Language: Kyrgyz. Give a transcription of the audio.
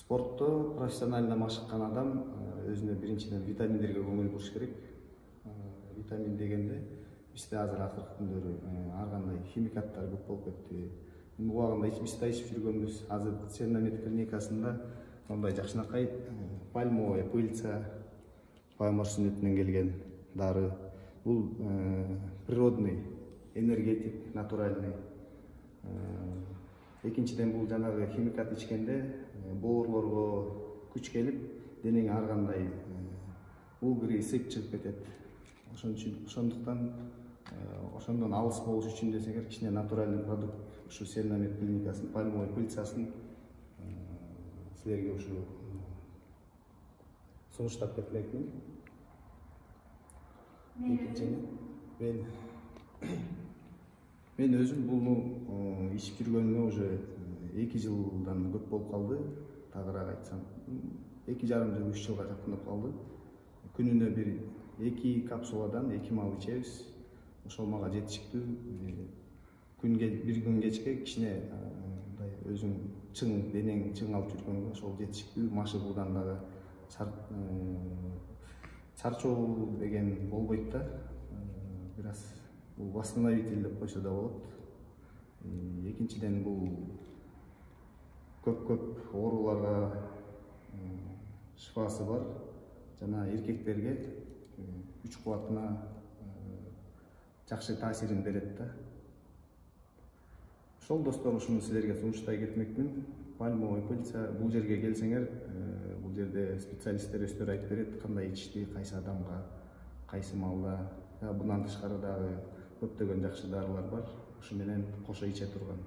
Спортто профессионально машыккан адам өзүнө биринчиден витаминдерге көңүл буруш керек. Витамин дегенде бизде азыр акыркы күндөрү ар кандай химикаттар көп болуп кетти. Убагында биз да ичип жүргөнбүз. Азыр Церномед клиникасында мындай жакшынакай пальмовая пыльца, пальма сүннөтүнөн келген дары. Бул природный, энергетик, натуральный. Экинчиден бул жанагы химикат ичкенде боорлорго күч келип, денең ар кандай угры, ысык чыгып кетет. Ошондуктан ошондон алыс болуш үчүн десеңер кичине натуральный продукт ушу Церномед клиникасынын пальмовая пыльцасын силерге ушу сунуштап кетмекмин. Мен өзүм буну ичип жүргөнүмө уже 2 жылдан көп болуп калды. Тагыраак айтсам, 2,5 жыл, 3 жылга жакындап калды. Күнүнө бир 2 капсуладан 2 мал ичебиз. Ошол мага жетиштүү. Bir күн кечке кичине мындай өзүң чың, денең чың алып жүргөнгө ошол жетиштүү. Машыгуудан дагы чарчоо деген болбойт да. Бир аз бул восстановитель деп койсо да болот. Экинчиден бул көп ооруларга шифасы бар. Жана эркектерге күч кубатына жакшы таасирин берет да. Ошол достор, ушуну силерге сунуштай кетмекмин. Пальмовая пыльца, бул жерге келсеңер, бул жерде специалисттер өздөрү айтып берет, кандай ичишти, кайсы адамга, кайсы маалда. Bundan тышкары дагы көптөгөн жакшы дарылар бар. Ушу менен кошо иче турган.